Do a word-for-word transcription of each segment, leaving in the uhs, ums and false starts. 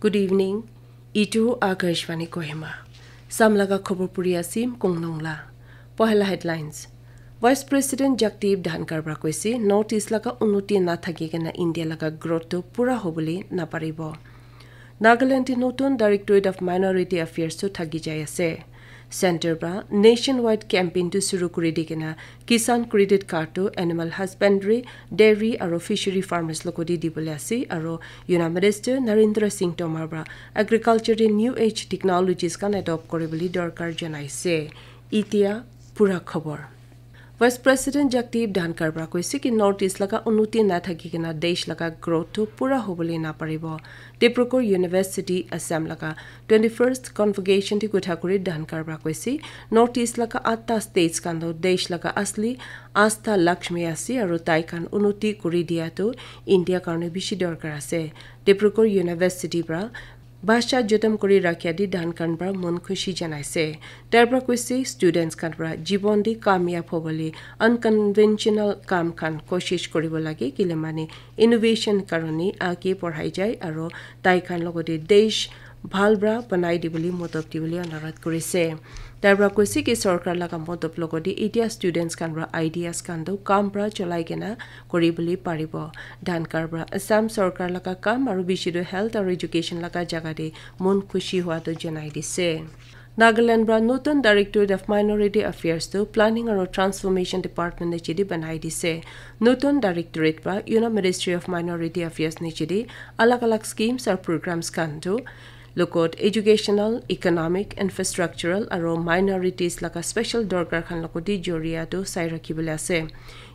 Good evening. Itu Akashvani Kohima. Samlaga khobor puri asim kongnong la. Pohela headlines. Vice President Jagdeep Dhankhar pra koise, North East laga unnoti nathaki kena India laga growth tu pura hobole naparibo. Nagaland te notun Directorate of Minority Affairs tu thaki jai ase. Center pra nationwide campaign tu suru kuri di kena Kisan Credit Card tu animal husbandry, dairy aro fishery farmers logoti dibole ase aro Union Minister Narendra Singh Tomar pra agriculture te new age technologies khan adopt kuribole dorkar janaise. Itia pura khobor. Vice President Jagdeep Dhankhar pra koise ki North East laga unnoti nathaki kena desh laga growth tu pura hobole naparibo. Dibrugarh University Assam laga twenty-first convocation te kotha kuri Dhankhar pra koise, North East laga atta states khan tu desh laga asli asta Lakshmi ase aro tai khan unnoti kuri dia tu India karne bishi dorkar ase. Dibrugarh University pra bhasha jotom kuri rakhia di Dhankhar pra mon khushi janaise. Tai pra koise students khan pra jibon di kamyab hobole unconventional kam khan koshish kuribo lage kile mane innovation karone age porhai jai aro tai khan logoti desh bhal pra banai dibole modot dibole anurodh kurise. Tai pra koise ki sorkar laga modot logoti itia students khan pra ideas khan tu kam pra cholai kena kuribole paribo. Dhankhar pra Assam sorkar laga kam aro bishi tu health aro education laga jaga te mon khushi hua tu janai dise. Nagaland pra notun Directorate of Minority Affairs tu Planning aro Transformation Department niche te banai dise. Notun directorate pra Union Ministry of Minority Affairs niche te alag alag schemes aro programs khan tu logot educational, economic, infrastructural aro minorities laga special dorkar khan logoti joria tu sai rakhibole ase.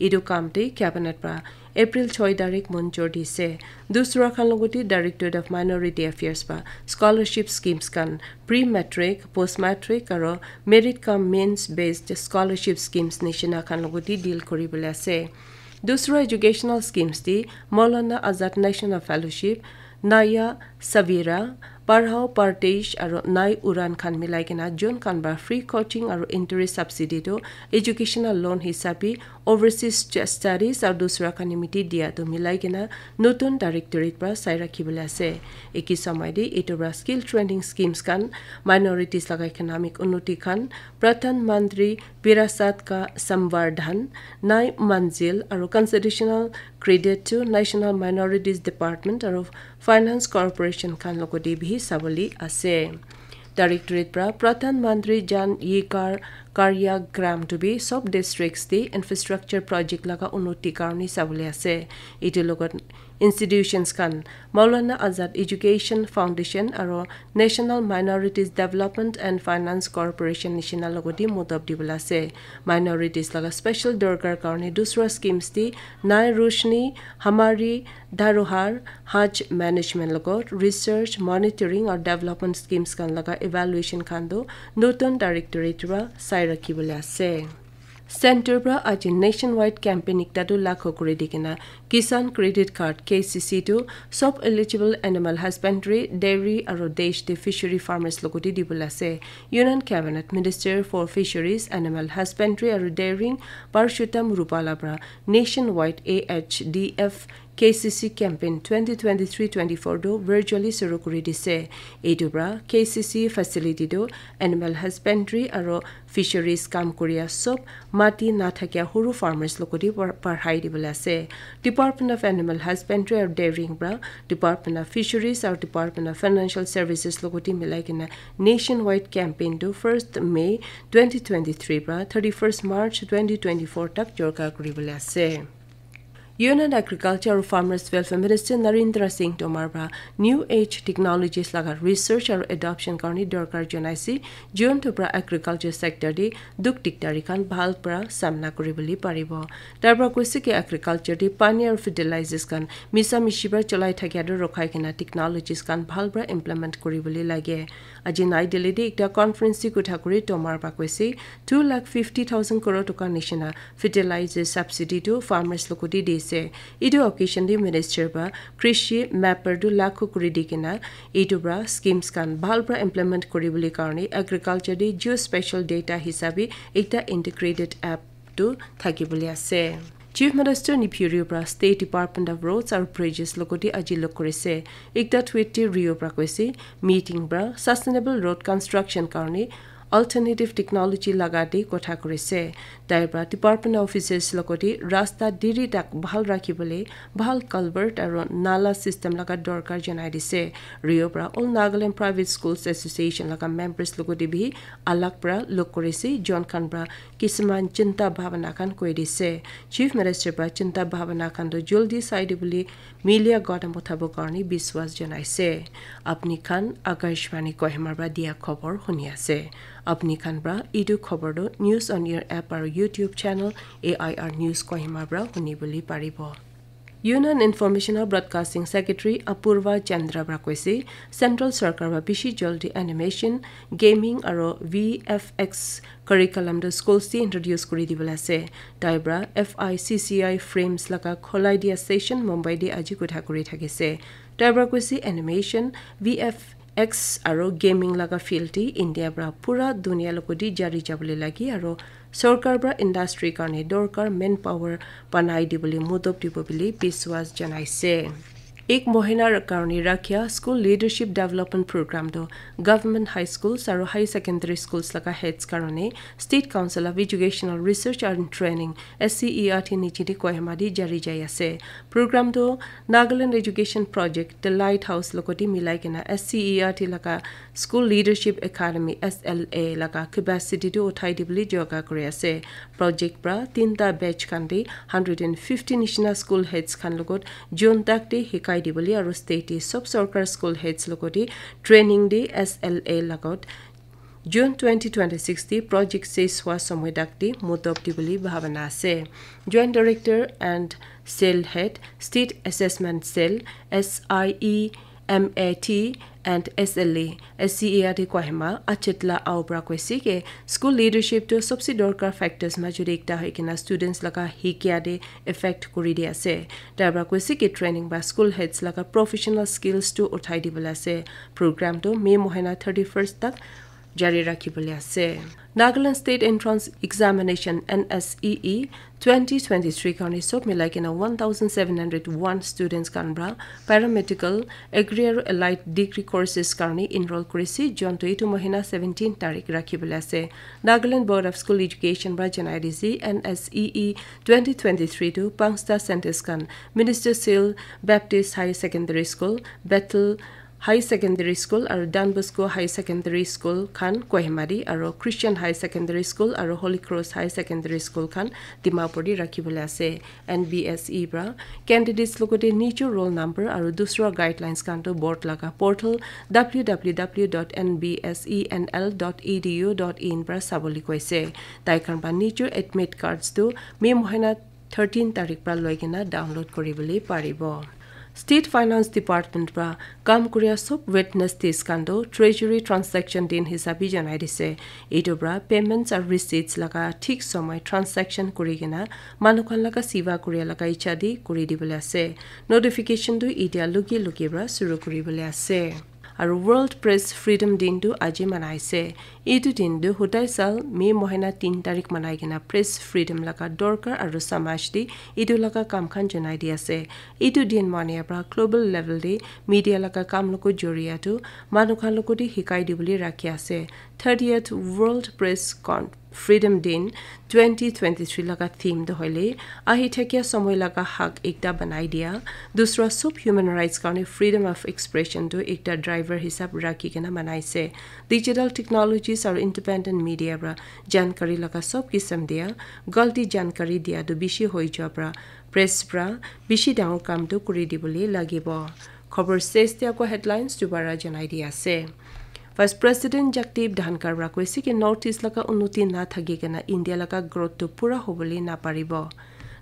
Itu kam te cabinet pra April choi tarik monjur dise. Dusra khan logoti Directorate of Minority Affairs pra scholarship schemes khan, pre-matric, post-matric aro merit cum means based scholarship schemes nishina khan logoti deal kuribole ase. Dusra educational schemes te Maulana Azad National Fellowship, Naya Savira, Padhao Pardesh aro Nai Uran khan milai kena jun khan pra free coaching aro entry subsidy tu educational loan hisabe overseas ch-, studies aro dusra khan nimite dia tu milai kena notun directorate pra sai rakhibole ase. Eki samay te itu pra skill training schemes khan, minorities laga economic unnoti khan, Pradhan Mantri Virasat ka Samvardhan, Nai Manzil aro constitutional credit to National Minorities Department aro Finance Corporation khan logoti bihi sabole ase. Directorate pra Pradhan Mantri Jan Yikar Karya Gram tu bi sob districts te infrastructure project laga unnoti karone sabole ase. Itu logot institutions khan Maulana Azad Education Foundation aro National Minorities Development and Finance Corporation nishina logoti modot dibole ase. Minorities laga special dorkar karone dusra schemes te Nai Roshni, Hamari Dharohar, Haj Management logot research, monitoring aro development schemes khan laga evaluation khan tu notun directorate pra sai rakhibole ase. Center pra aji nationwide campaign ekta tu laghu kuri di kena Kisan Credit Card, K C C, tu sob eligible animal husbandry, dairy aro desh te fishery farmers logoti dibole ase. Union Cabinet Minister for Fisheries, Animal Husbandry aro Dairying Parshottam Rupala pra nationwide A H D F K C C campaign twenty twenty-three twenty-four tu virtually suru kuri dise. Itu pra K C C facility tu animal husbandry aro fisheries kam kuria sob mati nathakia huru farmers logoti par-, parhai dibole ase. Department of Animal Husbandry aro Dairying pra Department of Fisheries aro Department of Financial Services logoti milai kena nationwide campaign tu first May twenty twenty-three pra thirty-first March twenty twenty-four tak jorka kuribole ase. Union Agriculture aro Farmers Welfare Minister Narendra Singh Tomar pra New Age Technologies laga research aro adoption karone dorkar janaise, jiuntu pra agriculture sector te dukh dikdari khan bhal pra samna kuribole paribo. Tai pra koise ki agriculture te pani aro fertilizers khan misa mishi pra cholai thakia tu rokhai kena technologies khan bhal pra implement kuribole lage. Aji Nai Delhi te ekta conference te kotha kuri Tomar pra koise, two lakh fifty thousand crore toka nishina fertilizer subsidy tu farmers logoti dise. Itu occasion te minister pra krishi mapper tu laghu kuri di kena itu pra schemes khan bhal pra implement kuribole karone agriculture te geospatial data hisabe ekta integrated app tu thakibole ase. Chief Minister Neiphiu Rio pra State Department of Roads aru Bridges logoti aji log kurise. Ekta tweet te Rio pra koise, meeting pra sustainable road construction karne alternative technology laga te kotha kurise. Tai pra department officers logoti rasta diri tak bhal rakhibole bhal culvert aru nala system laga dorkar janai dise. Rio pra All Nagaland Private Schools Association laga members logoti bi alag pra log kurise, jon khan pra kisiman chinta bhabana khan koi dise. Chief Minister pra chinta bhabana khan to joldi sai dibole media gota mutabok karne biswas janaise. Apni khan Akashvani Kohima pra dia khobor huni ase. Apni khan pra etu khobor to News on Air app aru YouTube channel A I R News Kohima pra huni bole paribo. Union Information and Broadcasting Secretary Apurva Chandra pra koise, Central Sarkar pra bishi jaldi animation, gaming aru V F X curriculum to schools te introduce kuri dibole ase. Tai pra F I C C I frames laga kholai dia session Mumbai te aji kotha kuri thakise. Tai pra koise animation, V F X aru gaming laga field te India pra pura dunia logoti jari jabole lagi aru sorkar pra industry karne dorkar manpower banai dibole mudop dibo bole biswas janaise. Ek mohinar karne rakhia School Leadership Development Program to Government High Schools aru High Secondary Schools laga heads karne State Council of Educational Research and Training, S C E R T niche te Kohima te jari jai ase. Program to Nagaland Education Project, The Lighthouse logoti milai kena S C E R T laga School Leadership Academy, S L A, laga capacity to uthai dibole joga kuri ase. Project pra tinta batch khan te hundred and fifty nishina school heads khan logot June tak te hikai dibole aru state te sob sorkar school heads logot te training te S L A logot June twenty twenty-six te project ses hua somoy tak te mudop dibole bhabana ase. Joint Director and Cell Head, State Assessment Cell, S I E M A T and S L A, S C E R T Kohima, Achetla Aubra koise ke school leadership to sobse dorkar factors major te ekta hoi kena students laga hikia te effect kuri di ase. Tai pra koise ke training ba school heads laga professional skills to uthai dibole ase. Program to May mohina thirty-first tak jari rakhi bole ase. Nagaland State Entrance Examination, N S E E, twenty twenty-three karne sob milai kena one thousand seven hundred one students khan pra paramedical, agri aru allied degree courses karne enroll kurise, jon to etu mohina seventeen tarik rakhi bole ase. Nagaland Board of School Education pra janai dise, N S E E twenty twenty-three to pangsta centers khan Minister Seal Baptist Higher Secondary School, Bethel High Secondary School aru Don Bosco High Secondary School khan Kohima te aru Christian High Secondary School aru Holy Cross High Secondary School khan Dimapur te rakhi bole ase. N B S E pra candidates logote nijor roll number aru dusra guidelines khan to board laga portal W W W dot N B S E N L dot E D U dot in pra sabole koise. Tai khan pra nijor admit cards to May mohina thirteen tarik pra loi kena download kuri bole paribo. State Finance Department pra kam kuria sob Wednesdays khan to treasury transaction din hisabi janai dise. Etu pra payments aru receipts laga thik somoi transaction kuri kena manu khan laga siva kuria laga icha di kuri dibole ase. Notification tu itia luki luki pra suru kuri bole ase. Aru World Press Freedom Din tu aji manai ase. Etu din tu hudai sal May mohina tin tarik manai kena press freedom laga dorkar aru samaj te etu laga kam khan janai di ase. Etu din mania pra global level te media laga kam logo joria tu manu khan logo te hikai dibole rakhi ase. Thirtieth World Press Con Freedom Din twenty twenty-three laga theme tu hoile ahi thakia somoi laga hak ekta banai dia, dusra sob human rights karne freedom of expression tu ekta driver hisab rakhi kena manai se. Digital technologies aru independent media pra jankari laga sob kisam dia, galti jankari dia tu bishi hoi jua pra press pra bishi dangor kam tu kuri dibole lagibo. Khobor ses te ako headlines dubara janai di ase. Vice President Jagdeep Dhankhar pra koise ki North East laga unnoti na thaki kena India laga growth tu pura hobole na paribo.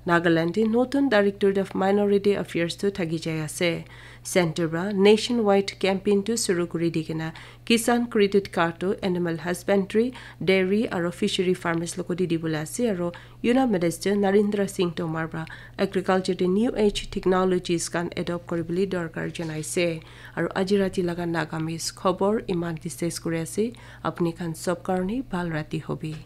Nagaland te notun Directorate of Minority Affairs tu thaki jai ase. Center pra nationwide campaign tu suru kuri di kena Kisan Credit Card tu animal husbandry, dairy aru fishery farmers logo di dibole ase aru Union Minister Narendra Singh Tomar pra agriculture te new age technologies khan adopt kuri bole dorkar janai se. Aru aji rati laga Nagamese khobor iman te ses kuri ase. Apni khan sob karne bhal rati hobi.